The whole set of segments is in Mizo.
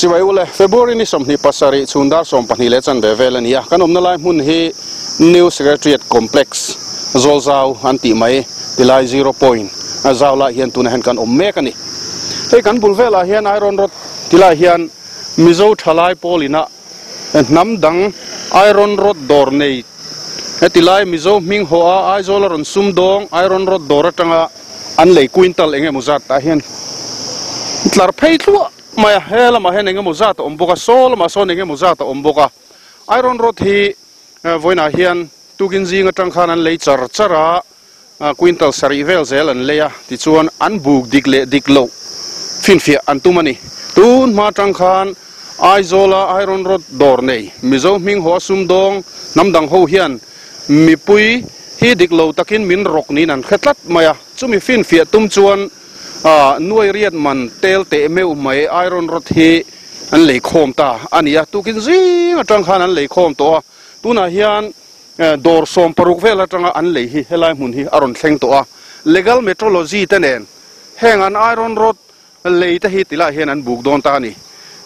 Chibai ule, February ni 27 chhun dar 12 leh chanve vel a ni a, kan awmna lai hmun hi New Secretariat Complex, Zawlzau an tih mai tilai Zero Point a zau lai hian tunah hian kan awm mek a ni. Hei kan bul velah hian Iron Rod tilai hian Mizo thalai pawl ina hnam dang Iron Rod dawr nei heti lai Mizo hming haw a Aizawl a rawn sum dawng Iron Rod dawr atanga an lei quintal eng emaw zat tah hian tlar phei thluah mai a, he lamah hian eng emaw zat a awm bawk a, saw lamah sawn eng emaw zat a awm bawk a, Iron Rod hi vawiinah hian tukin zing atang khan an lei char char a, quintal sarih vel zel an lei a, tichuan an buk dik leh dik loh finfiah an tum a ni. Tun hma atang khan Aizawla Iron Rod dawr nei Mizo hming haw a sumdawng hnam dang ho hian mipui hi dik lo takin min rawk niin an hre tlat mai a, chumi finfiah tum chuan nuai riat man tel teh meuh mai Iron Rod hi an lei khawm ta a ni a, tukin zing atang khan an lei khawm tawh a, tunah hian Dawr 16 vel atanga an lei hi helai hmun hi a rawn thleng tawh a, Legal Metrology te nen heng an iron rod lei te hi tilai hian an buk dawn ta a ni.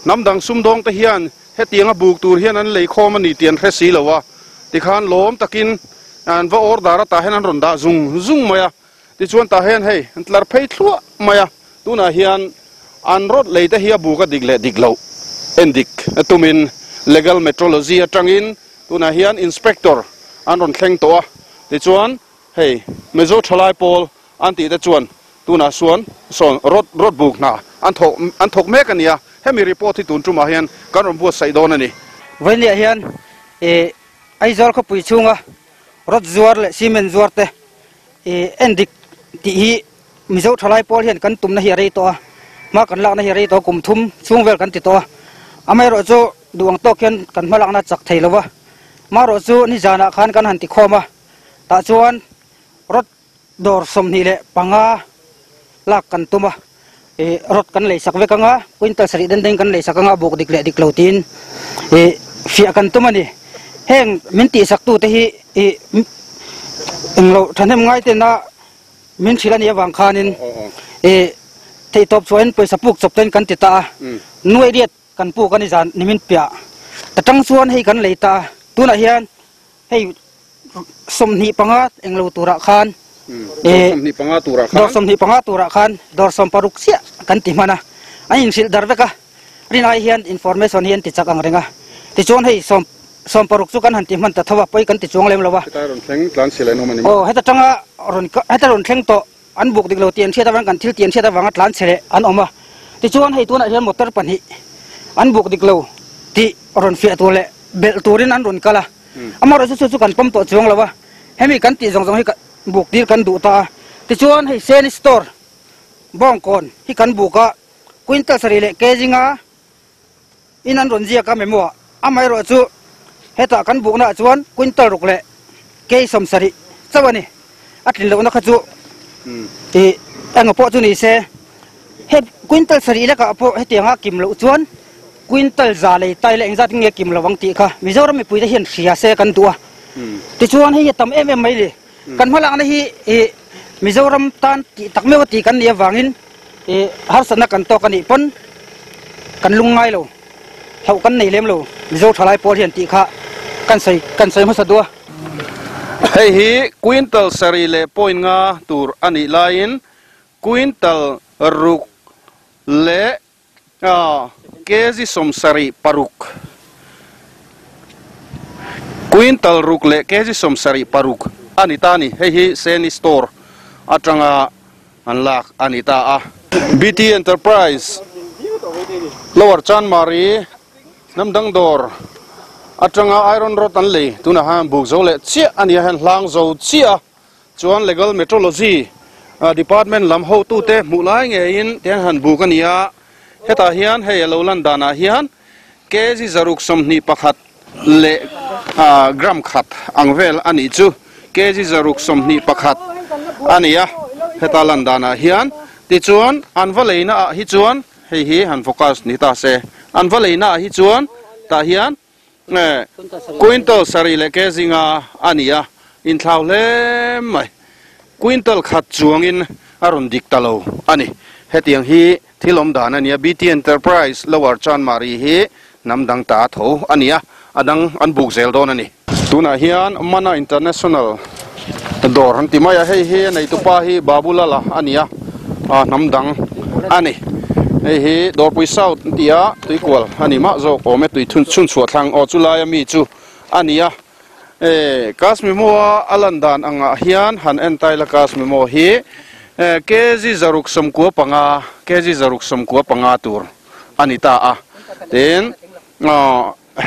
Hnam dang sumdawng te hian hetianga buk tur hian an lei khawm a ni tih an hre si lo a, tikhan lawm takin an va order a tah hian an rawn dah zung zung mai a, tichuan tah hian hei an tlar phei thluah mai a, tunah hian an rod lei te hi a buk a dik leh dik loh endik tumin Legal Metrology atangin Tunah hian Inspector an rawn thleng tawh a, tichuan hei Mizo thalai pawl an tih te chuan tunah suan sawn road road buk hna an thawk an thawk mek a ni a, hemi report hi tun tumah hian kan rawn buatsaih dawn a ni. Vawinia hian ih Aizawl khawpui chhunga road zuar leh cement zuar te ih endik tih hi Mizo thalai pawl hian kan tumna hi a rei tawh a, hma kan lakna hi a rei tawh a, kum thum chhung vel kan ti tawh a, amaherawhchu duh ang tawk hian kan hma lakna a chak thei lo va, marawh chu nizanah khan kan han ti khawm a, tah chuan rod dawr 25 lak kan tum a, ih rod kan lei sak vek ang a, quintal sarih den den kan lei sak ang a, buk dik leh dik lo tiin ih fiah kan tum a ni. Heng min tihsak tute hi ih englo thahnem ngai tena Min hrilh a nih avang khanin i theihtawp chhuahin pawisa puk chawp ten kan ti ta a, nuai riat kan puk a ni zan nimin piah ta tang chuan hei kan lei ta a, tunah hian hei 25 englo turah khan dawr 25 turah khan dawr 60 chiah kan ti hman a, an inhrilh dar vek a. Rin ai hian information hi an ti chak ang reng a, tichuan hei sawm 60 chu kan han ti hman ta tho a, pawi kan ti chuang lem lo a. Heta rawn thleng tlan chhe leh an awm a ni maw? Aw, heta tanga rawn heta rawn thleng tawh an buk dik lo tih an hriat avang kan thil tih an hriat avanga tlan chhe leh an awm a, tichuan hei tunah hian motor pahnih an buk dik lo tih rawn fiah tur leh belh turin an rawn kal a, amaherawhchu chu chu kan pawm tawh chuang lo a, hemi kan tih zawng zawng hi buk tir kan duh ta a, tichuan hei Seni store Bawngkawn hi kan buk a. Quintal sarih leh kg nga in an rawn ziak a memo ah amaherawh chu hetah kan bukna ah chuan quintal ruk leh kg 70 chauh a ni. A tlin lohna kha chu ih eng pawh chu ni se he quintal sarih lekah pawh hetianga kim loh chuan quintal za lei tai leh engzat nge kim lo ang tih kha Mizoram mipuite hian hria se kan duh a. Tichuan hei hi a tam em em mai le. Kan hmalakna hi ih Mizoram tan tih tak meuh a tih kan nih avangin ih harsatna kan tawk a nih pawn kan lung ngai lo, hlauh kan nei lem lo Mizo thalai pawl hian tih kha kan sawi kan sawi hmasa duh a. Hei hi quintal sarih leh point nga tur a nih laiin quintal ruk leh Kg 76, Quintal ruk leh kg 76 a ni ta a ni. Hei hi Seni Store atanga an lak a ni ta a. BT Enterprise, Lower Chanmari, Hnamdang dawr atanga iron rod an lei. Tunah hian buk zo leh chiah a ni a, heng hlang zo chiah a. Chuan Legal Metrology Department lam hotute hmuh lai ngeiin tiang han buk a ni a, hetah hian hei a lo lan danah hian kg 621 leh gram khat ang vel a nih chu, kg 621 a ni a heta lan danah hian. Tichuan an va leina ah hi chuan hei hi han focus ni ta se, an va leina ah hi chuan tah hian Quintal sarih leh ke zinga a ni a, inthlau hle mai. Quintal khat chuangin a rawn dik ta lo a ni. Hetiang hi Thil awm dan a nia, BT Enterprise Lower Chanmari hi hnam dang ta tho a nia, a dang an buk zel dawn a ni. Tunah hian Mana International dawr an ti mai a, hei hi a neitupa hi Babulala a nia, hnam dang a ni. Hei hi Dawrpui South an ti a, tuikual a ni mah zawk awm e, tui chhunchhuah thlang aw chu laia mi chu a nia. E, Kashmimo-a a lan dan angah hian han en tai la Kashmimo hi kg 65, kg 65 tur a ni ta a. Tin,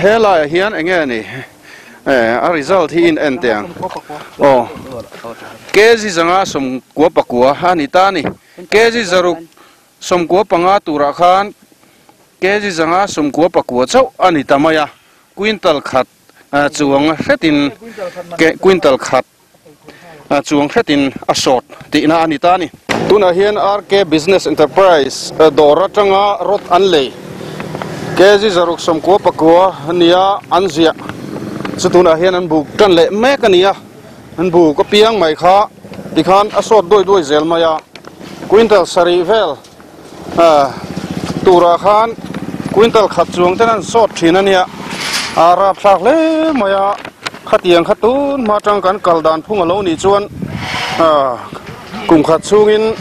he laiah hian eng nge ni a result hi in en teh ang. Aw, kg 599 a ni ta a ni. Kg 65 turah khan kg 599 chauh a ni ta mai a, quintal khat chuang hretin quintal khat chuang hretin a sawt tihna a ni ta a ni. Tunah hian RK Business Enterprise dawr atanga rod an lei kg 69 nia an ziah chu tunah hian an buk tan leh mek a ni a, an buk apiang mai kha tikhan a sawt duai duai zel mai a, quintal sarih vel Turah khan quintal khat chuang ten an sawt thin a nia, a rapthlak hle mai a, khatiang kha tun hma atang kan kal dan phung a lo nih chuan kum khat chhungin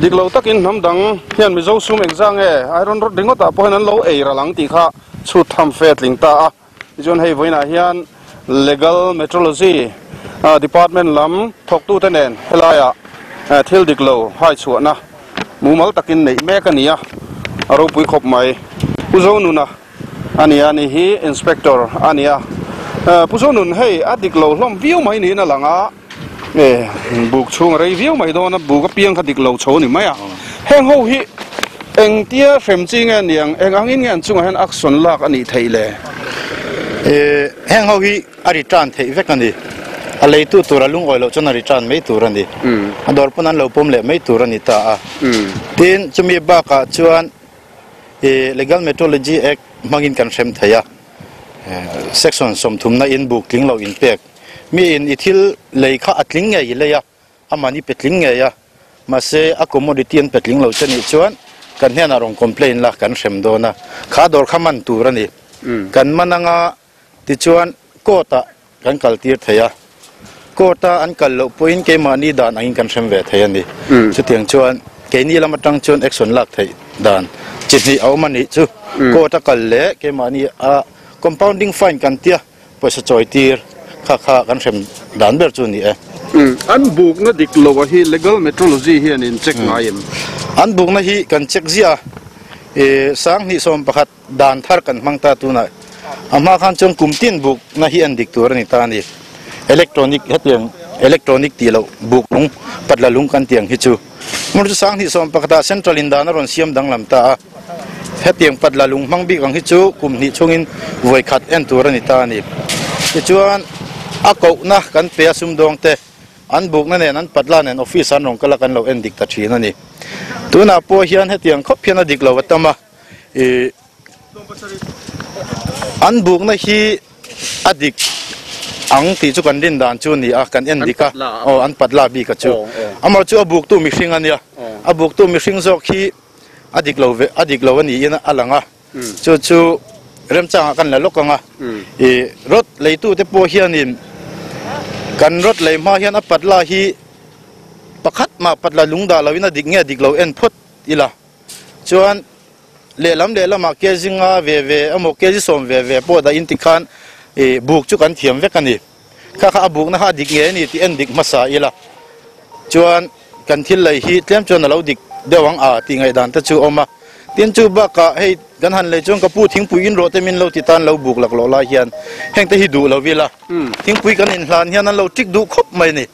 dik lo takin hnam dang hian Mizo sum engzah nge iron rod ringawt ah pawh hian an lo ei ral ang tih kha chhut tham fe a tling ta a, tichuan hei vawiinah hian Legal Metrology Department lam thawktute nen helaiah thil dik lo hai chhuahna mumal takin neih mek a ni a, a ropui khawp mai. Pu Zonuna a ni a, ni hi Inspector a ni a. Pu Zonun hei a dik lo hlawm viau mai niin a lang a, buk chhung a rei viau mai dawn a, buk apiang kha dik lo chho a ni mai a. Heng ho hi engtia hrem chi nge niang, eng angin nge an chungah hian action lak a nih theih le? Heng ho hi a return theih vek a ni. A leitu tur a lungawi loh chuan a return mai tur a ni. A dawr pawn an lo pawm leh mai tur a ni ta a. Tin, chumi bakah chuan Legal Metrology Act hmangin kan hrem thei a. Section 30 na in buk tling lo inpek. Mi in i thil lei kha a tling ngei i lei a, Aman i pe tling ngei a, mahse a commodity an pe tling lo che nih chuan kan hnenah rawn complain la kan hrem dawn a, kha dawr kha man tur a ni. Kan man anga tichuan court ah kan kal tir thei a, court a an kal loh pawhin keimahni dan angin kan hrem ve thei a ni. Chutiang chuan keini lam atang chuan action lak theih dan chi hnih a awm a nih chu, court a kal leh keimahni a compounding fine kan tia, Pawisa chawi tir kha kha kan hrem dan ber chu a ni e. An bukna dik lo a hi Legal Metrology hian in check ngai em? An bukna hi kan check ziah a, i 2011 dan thar kan hmang ta tunah a hma khan chuan kum tin bukna hi an dik tur a ni ta a ni. Electronic hetiang electronic tih loh buk lung patla lung kan tih ang hi chu hmun chu 2011 ah Central in dan a rawn siam danglam ta a. Hetiang patla lung hmang bik ang hi chu kum hnih chhungin vawi khat en tur a ni ta a ni. Tichuan, a kohna kan pe a sumdawng te, an bukna nen an patla nen office an rawn kal a kan lo en dik ta thin a ni. Tunah pawh hian hetiang khawp hian a dik lo a tam a, ih an bukna hi a dik ang tih chu kan rin dan chu a ni a, kan en dik a, aw an patla bik a chu. Amaherawhchu chu a buktu mihring a nia, a buktu mihring zawk hi a dik lo ve a dik lo a niin a lang a chu chu remchangah kan la lawk ang a ih rod leitute pawh hianin kan rod lei hma hian a patla hi pakhat mah patla lung dah loin a dik nge dik lo en phawt ila chuan lehlam lehlamah kg nga ve ve emaw kg 10 ve ve pawh dah in tikhan ih buk chu kan thiam vek a ni kha kha a bukna kha a dik nge a ni tih en dik hmasa ila chuan. Kan thil lei hi tlem chuan a lo dik deuh ang a tih ngaihdan te chu a awm a. Tin chu bakah hei kan han lei chuan ka pu thingpui in rawh te min lo ti tan lo buk lak loh lai hian heng te hi duh lo ila thingpui kan inhlan hian an lo tik duh khawp mai a ni.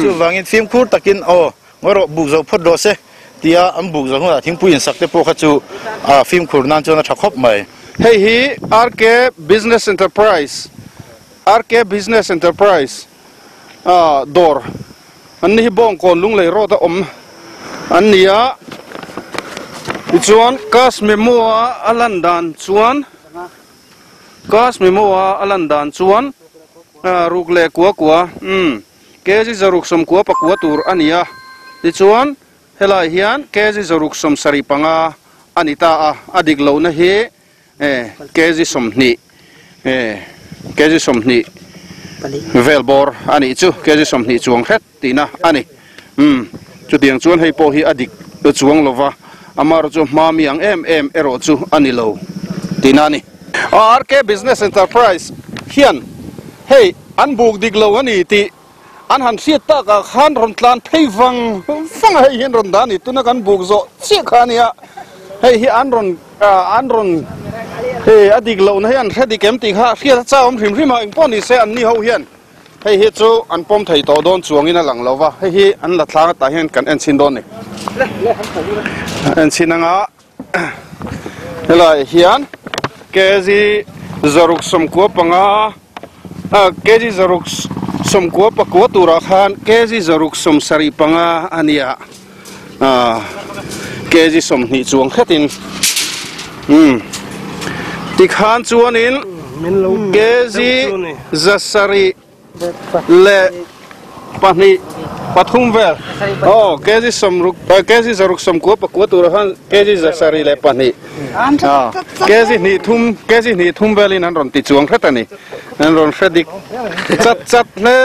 Chuvangin fimkhur takin aw ngawi rawh buk zo phawt rawh se tia an buk zo hunah thingpui insak te pawh kha chu a fimkhur nan chuan a tha khawp mai. Hei hi RK Business Enterprise, RK Business Enterprise dawr an ni hi Bawngkawn Lunglei road a awm an ni a, tichuan cash memo a a lan dan chuan cash memo a a lan dan chuan ruk leh kua kua umm kg 699 tur a ni a, tichuan. Helai hian kg zaruk 75 a ni ta a, a dik lohna hi kg 20 kg 20 vel bawr a nih chu, kg 20 chuang hret tihna a ni. Chutiang chuan hei pawh hi a dik chuang lova, amaherawh chu hma mi ang em em erawh chu a ni lo tihna a ni. RK Business Enterprise hian hei an buk dik lo a ni tih an han hriat takah khan rawn tlan phei vang vang a, hei hian rawn dah a ni. Tuna kan buk zawh chiah kha a nia, hei hi an rawn an rawn hei a dik lohna hi an hre dik em tih kha hriat a chau awm hrim hrim a, engpawh ni se anni ho hian hei hi chu an pawm thei tawh dawn chuangin a lang lo va, hei hi an la thlang atah hian kan en chhin dawn a ni. En chhin anga helai hian kg 65 kg 69 turah khan kg 75 a nia, kg 20 chuang hretin tikhan chuanin kg 700 leh 2 3 vel aw kg 60 kg 69 turah khan kg 702 kg 3 kg 3 velin an rawn ti chuang hret a ni, an rawn hre dik chat chat hle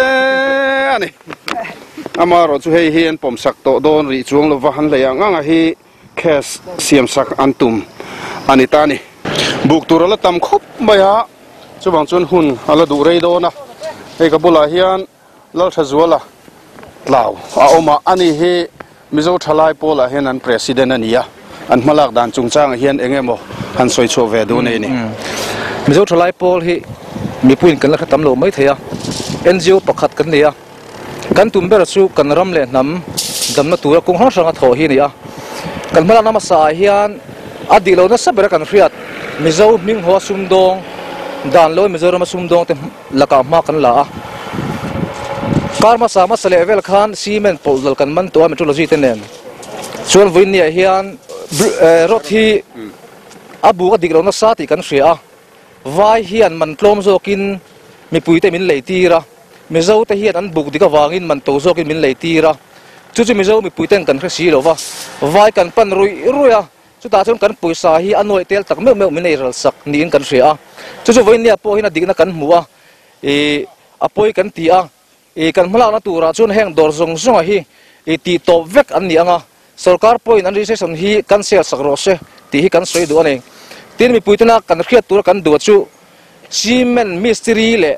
a ni. Amaherawh chu hei hi an pawmsak tawh dawn rih chuang lova han hlei ang anga hi case siamsak an tum a ni ta a ni. Buk tur a la tam khawp mai a, chuvang chuan hun a la duh rei dawn a. Hei ka bulah hian Lalthazuala Tlau a awm a, ani hi Mizo Thalai Pawlah hian an President a ni a, an hmalak dan chungchangah hian eng emaw han sawi chhuah ve duh nei ni. Mizo Thalai Pawl hi mipuiin kan la hre tam lo mai thei a, NGO pakhat kan nei a, kan tum ber chu kan ram leh hnam damna tura kawng hrang hranga thawh hi a ni a. Kan hmalakna hmasa ah hian a dih lo nasa bera kan hriat Mizo hminghaw sumdawng dan lo Mizorama sumdawng te lakah hma kan la a. Kar hmasa hmasa leh vel khan cement pawlh dal kan man tawh a metrology te nen chuan vawiin ah hian rod hi a buk a dik lo nasa tih kan hria a. Vai hian man tlawm zawkin mipui te min lei tir a, Mizo te hian an buk dik avangin man to zawkin min lei tir a, chu chu Mizo mipui ten kan hre si lo va, vai kan pan ruih ruih a, chutah chuan kan pawisa hi a nuaih tel tak meuh meuh min ei ral sak niin kan hria a, chu chu vawiin nia pawh hian a dikna kan hmu a, ih a pawi kan ti a, ih kan hmalakna turah chuan heng dawr zawng zawnga hi ih tih tawp vek an ni ang a. Sorkar pawhin an registration hi cancel sak rawh se tih hi kan sawi duh a ni. Tin, mipuitena kan hriat tura kan duh chu cement mistiri leh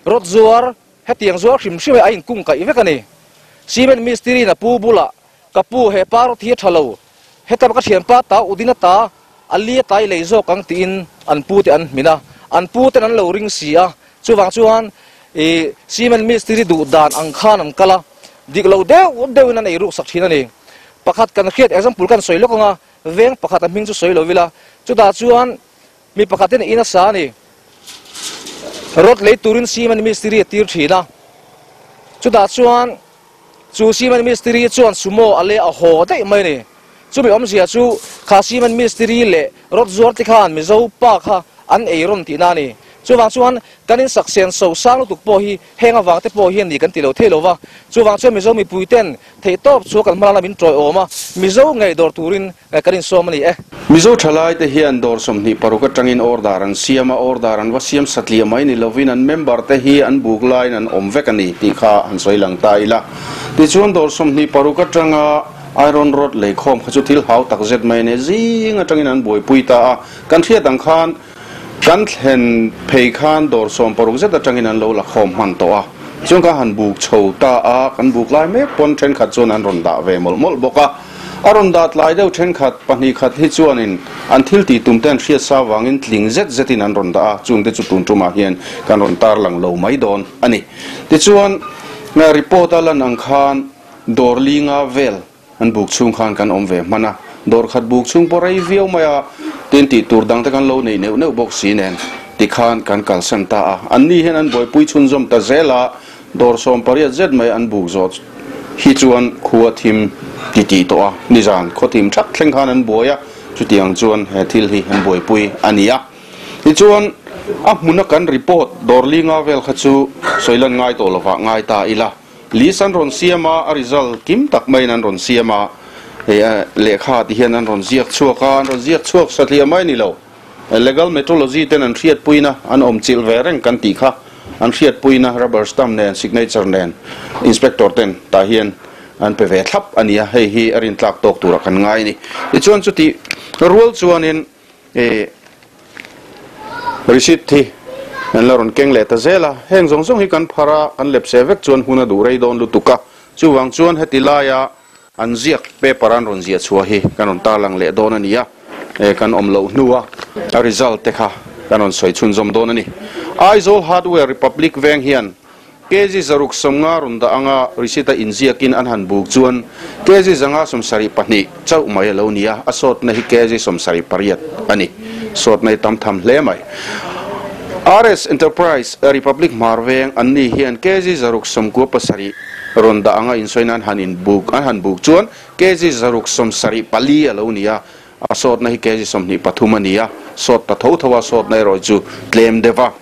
rod zuar hetiang zuar hrim hrim hi a inkung kaih vek a ni. Cement mistiri in a pu bulah, Ka pu, he pa rod hi a tha lo, heta ka thianpa ta Udina ta a li a tai lei zawk ang tiin an pu te an hmin a, an pu ten an lo ring si a, chuvang chuan ih cement mistiri duh dan ang khan an kal a. Dik lo deuh deuhin an ei ruk sak thin a ni. Pakhat kan hriat example kan sawi lawk ang a, veng pakhat a hming chu sawi lo ila, chutah chuan mi pakhatin in a sa a ni. Rod lei turin cement mistiri a tir thin a, chutah chuan chu cement mistiri chuan sumo a leh a haw daih mai a ni. Chumi awmzia chu kha cement mistiri leh rod zuar te khan Mizo pa kha an ei rawn tihna a ni. Chuvang chuan kan insak sen so sang lutuk pawh hi heng avang te pawh hian ni kan ti lo thei lo va. Chuvang chuan Mizo mipui ten theihtawp chu kan hmalakna min tawiawm a, Mizo ngei dawr turin kan insawm a ni e. Mizo thalai te hian dawr 26 atangin order an siam a, order an va siam satliah mai ni lovin an member te hi an buk laiin an awm vek a ni tih kha han sawi lang ta ila. Tichuan dawr 26 atanga iron rod leikhawm kha chu thil hau tak zet mai a ni, zing atangin an buaipui ta a, kan hriat ang khan kan thlen phei khan dawr 60 zet atangin an lo la khawm hman tawh a, chuan ka han buk chho ta a, kan buk lai mek pawn thenkhat chuan an rawn dah ve mawlh mawlh bawk a, a rawn dah tlai deuh thenkhat pahnih khat hi chuanin an thil tih tum te an hriat sa vangin tling zet zetin an rawn dah a, chungte chu tun tumah hian kan rawn tarlang lo mai dawn a ni. Tichuan report a lan ang khan dawr linga vel An buk chhung khan kan awm ve hman a, dawr khat buk chhung pawh rei viau mai a, tin tih tur dang te kan lo nei neuh neuh bawk si nen tikhan kan kalsan ta a. An ni hian an buaipui chhunzawm ta zel a, dawr 80 zet mai an buk zawh hi chuan khua thim ti tih tawh a, nizan khaw thim thak thleng khan an buai a, chutiang chuan he thil hi an buaipui a ni a. Tichuan a hmuna kan report dawr linga vel kha chu sawilan ngai tawh lovah ngai ta ila. List an rawn siam a, a result kim tak maiin an rawn siam a, hei lehkha ti hian an rawn ziak chhuak a, an rawn ziak chhuak satliah mai a ni lo. Legal metrology ten an hriatpuina an awm chilh ve reng kan tih kha an hriatpuina rubber stamp nen signature nen inspector ten tah hian an pe ve thlap a ni a, hei hi a rintlak tawk turah kan ngai a ni. Tichuan chutih rual chuanin ih receipt hi an la rawn keng leh ta zel a, heng zawng zawng hi kan phar a, kan lepse vek chuan hun a duh rei dawn lutuk a, chuvang chuan heti laia An ziak paper an rawn ziah chhuah hi kan rawn tarlang leh dawn a ni a, kan awm loh hnua a result te kha kan rawn sawi chhunzawm dawn a ni. Aizawl Hardware Republic veng hian kg zaruk sawmnga rawn dah anga receipt a inziakin an han buk chuan kg 572 chauh mai a lo ni a, a sawtna hi kg 78 a ni. Sawtna hi tam tham hle mai. RS Enterprise Republic Hmar veng an ni hian kg 697 Rawn dah anga insawi nan han in buk an han buk chuan kg 674 a lo ni a, a sawtna hi kg 23 a ni a, sawt ta tho tho a, sawtna erawh chu tlem deuh a.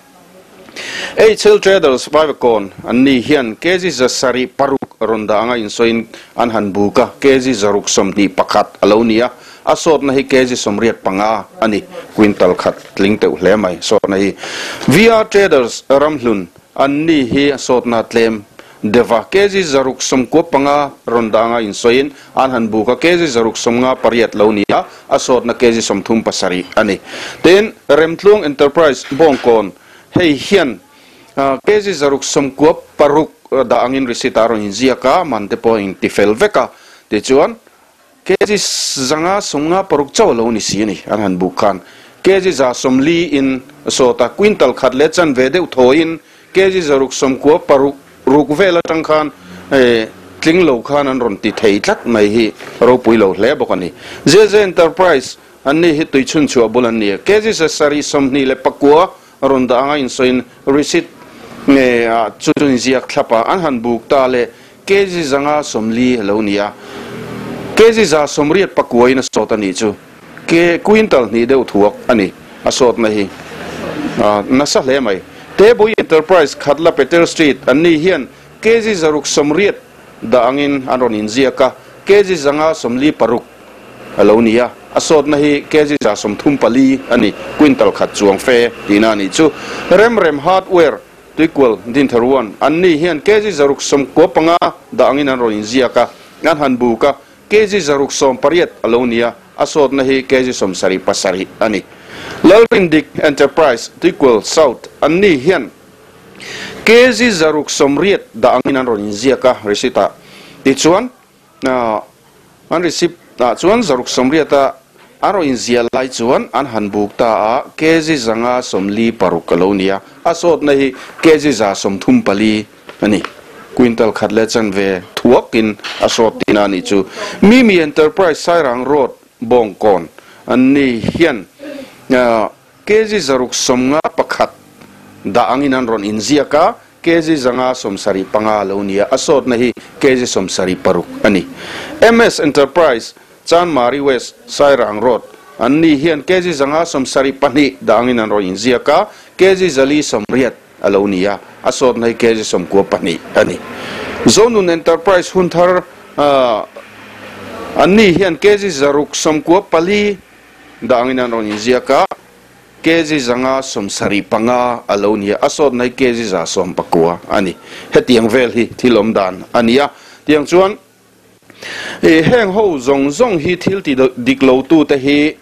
HL Traders Vaivakawn an ni hian kg 606 rawn dah anga insawiin an han buk a, kg 621 a lo ni a, a sawtna hi kg 85 a ni, quintal khat tling teuh hle mai sawtna hi. VR Traders Ramhlun an ni hi a sawtna tlem Deva kg 695 rawn dah anga insawiin an han buk a, kg 658 lo ni a, a sawtna kg 37 a ni. Tin, Remtluang Enterprise Bawngkawn hei hian kg 696 dah angin receipt a rawn inziak a, man te pawh a intifel vek a, tichuan kg 556 chauh a lo ni si a ni an han buk khan. Kg 140 in sawt a, quintal khat leh chanve deuh thawiin Kg 696 ruk vel atang khan tling lo khan an rawn ti thei tlat mai hi ropui lo hle bawk a ni. JJ Enterprise an ni hi tui chhun chhuah bul an ni a. Kg 729 rawn dah anga insawiin receipt nge ah chu chu inziak thlap a, an han buk ta le kg 540 a lo ni a. Kg 189 in a sawt a nih chu. Ke quintal hnih deuh thuak a ni a sawtna hi nasa hle mai. Tebui Enterprise Khatla Peter Street an ni hian kg 680 dah angin an rawn inziak a, kg 546 a lo ni a, a sawtna hi kg 134 a ni, quintal khat chuang fe tihna a nih chu. Remrem Hardware Tuikual Dintharuan an ni hian kg 695 dah angin an rawn inziak a, an han buk a, Kg 680 a lo ni a, a sawtna hi kg 77 a ni. Lalrindik Enterprise, Tuikual South, an ni hian kg 680 dah angin an rawn inziak a receipt ah. Tichuan, an receipt ah chuan 680 a an rawn inziah lai chuan an han buk ta a, kg 546 a lo ni a, a sawtna hi kg 134 a ni. Quintal khat leh chanve thuakin a sawt tihna a nih chu. Mimi Enterprise Sairang Road Bawngkawn an ni hian kg 651 dah angin an rawn inziak a, kg 575 a lo ni a, a sawtna hi kg 76 a ni. MS Enterprise Chanmari West Sairang Road an ni hian kg 572 dah angin an rawn inziak a, kg 480 a lo ni a, a sawtna hi kg 92 a ni. Zonun Enterprise hun thar an ni hian kg 694 dah angin an rawn inziak a, kg 575 a lo ni a, a sawtna hi kg 119 a ni. Hetiang vel hi thil awm dan a ni a, tiang chuan Heng ho zawng zawng hi thil ti dik lo tu te hi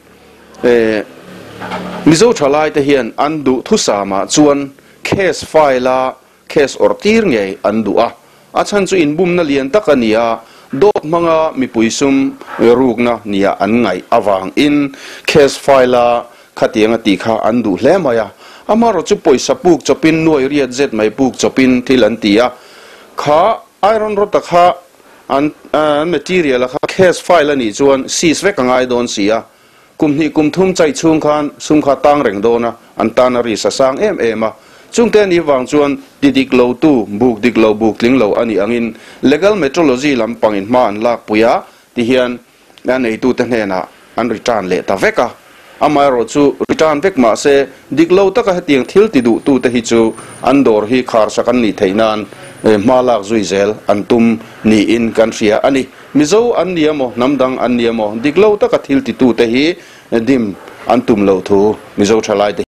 Mizo thalai te hian an duh thusamah chuan case file a case awrh tir ngei an duh a, a chhan chu inbumna lian tak a ni a, dawt hmanga mipui sum rukna nia an ngaih avangin case file a khatiang a tih kha an duh hle mai a, amaherawh chu pawisa puk chawpin nuai riat zet mai puk chawpin thil an ti a, kha Iron rod a kha an material a kha case file a nih chuan seize vek a ngai dawn si a, kum hnih kum thum chai chhung khan sum kha tang reng dawn a, an tan a risk a sang em em a. Chungte a nih vang chuan ti dik lo tu, buk dik lo, buk tling lo a nih angin legal metrology lampangin hma an lak pui a, tihian a neitute hnenah an return leh ta vek a, amaherawh chu return vek mahse dik lo taka hetiang thil ti duhtute hi chu an dawr hi kharsak an nih theih nan hma lak zui zel an tum niin kan hria a ni. Mizo an ni emaw, hnam dang an ni emaw, dik lo taka thil titute hi dim an tum loh thu Mizo thalaite.